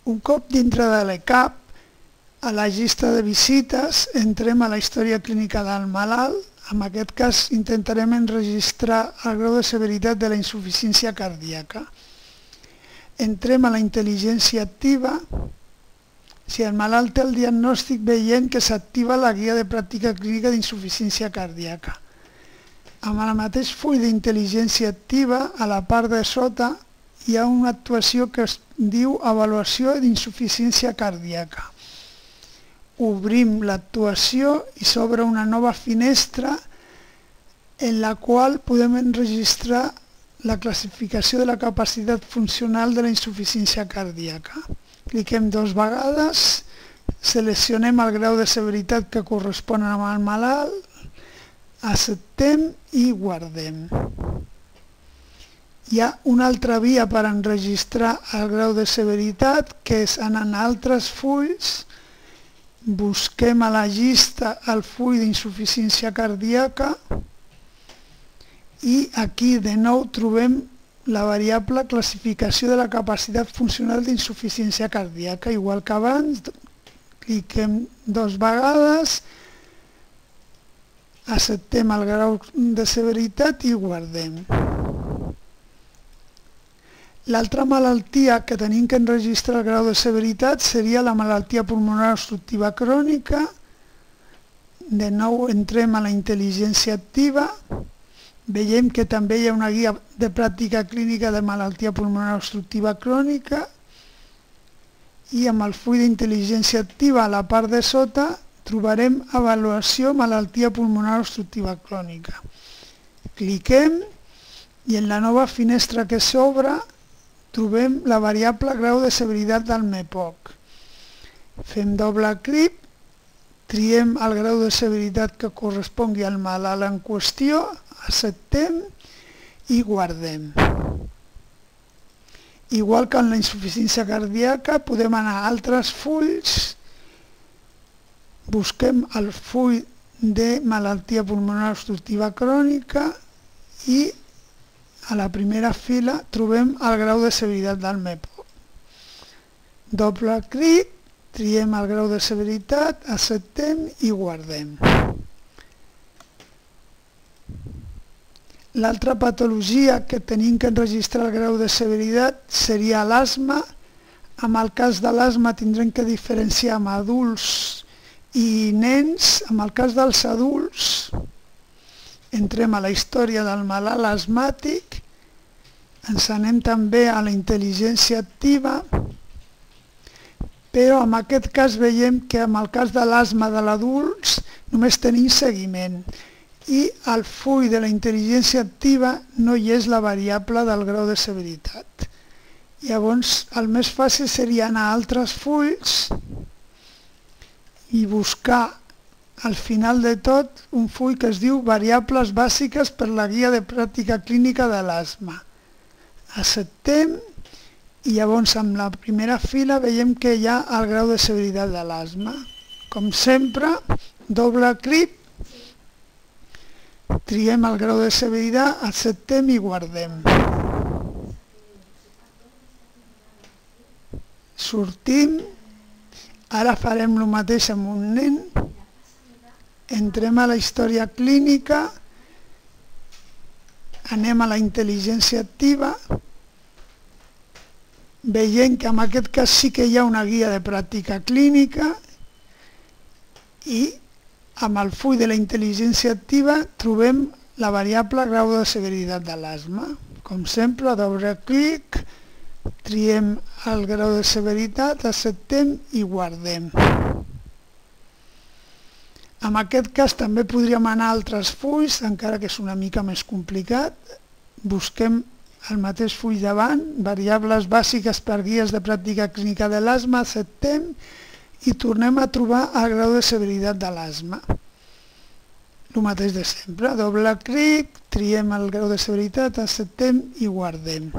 Un cop dintre de l'ECAP, a la llista de visites entrem a la història clínica del malalt. En aquest cas intentarem enregistrar el grau de severitat de la insuficiència cardíaca. Entrem a la intel·ligència activa. Si el malalt té el diagnòstic, veiem que s'activa la guia de pràctica clínica d'insuficiència cardíaca. Amb el mateix full d'intel·ligència activa, a la part de sota, hi ha una actuació que es diu avaluació d'insuficiència cardíaca. Obrim l'actuació i s'obre una nova finestra en la qual podem enregistrar la classificació de la capacitat funcional de la insuficiència cardíaca. Cliquem 2 vegades, seleccionem el grau de severitat que correspon amb el malalt, acceptem i guardem. Hi ha una altra via per enregistrar el grau de severitat, que és anar a altres fulls, busquem a la llista el full d'insuficiència cardíaca i aquí de nou trobem la variable classificació de la capacitat funcional d'insuficiència cardíaca. Igual que abans, cliquem 2 vegades, acceptem el grau de severitat i guardem. L'altra malaltia que tenim que enregistrar el grau de severitat seria la malaltia pulmonar obstructiva crònica. De nou entrem a la intel·ligència activa. Veiem que també hi ha una guia de pràctica clínica de malaltia pulmonar obstructiva crònica i amb el full d'intel·ligència activa a la part de sota trobarem avaluació malaltia pulmonar obstructiva crònica. Cliquem i en la nova finestra que s'obre trobem la variable grau de severitat del MEPOC. Fem doble clic, triem el grau de severitat que correspongui al malalt en qüestió, acceptem i guardem. Igual que en la insuficiència cardíaca, podem anar a altres fulls, busquem el full de malaltia pulmonar obstructiva crònica i a la primera fila trobem el grau de severitat del MEPOC. Doble clic, triem el grau de severitat, acceptem i guardem. L'altra patologia que tenim que enregistrar el grau de severitat seria l'asma. En el cas de l'asma tindrem que diferenciar amb adults i nens. En el cas dels adults entrem a la història del malalt asmàtic, ens anem també a la intel·ligència activa, però en aquest cas veiem que en el cas de l'asma de l'adults només tenim seguiment i al full de la intel·ligència activa no hi és la variable del grau de severitat. Llavors el més fàcil seria anar a altres fulls i buscar al final de tot un full que es diu variables bàsiques per la guia de pràctica clínica de l'asma. Acceptem i llavors amb la primera fila veiem que hi ha el grau de severitat de l'asma. Com sempre, doble clic, triem el grau de severitat, acceptem i guardem. Sortim, ara farem el mateix amb un nen. Entrem a la història clínica, anem a la intel·ligència activa, veiem que en aquest cas sí que hi ha una guia de pràctica clínica i amb el full de la intel·ligència activa trobem la variable grau de severitat de l'asma. Com sempre, doble clic, triem el grau de severitat, acceptem i guardem. En aquest cas també podríem anar a altres fulls, encara que és una mica més complicat. Busquem el mateix full davant, variables bàsiques per guies de pràctica clínica de l'asma, acceptem i tornem a trobar el grau de severitat de l'asma. El mateix de sempre, doble clic, triem el grau de severitat, acceptem i guardem.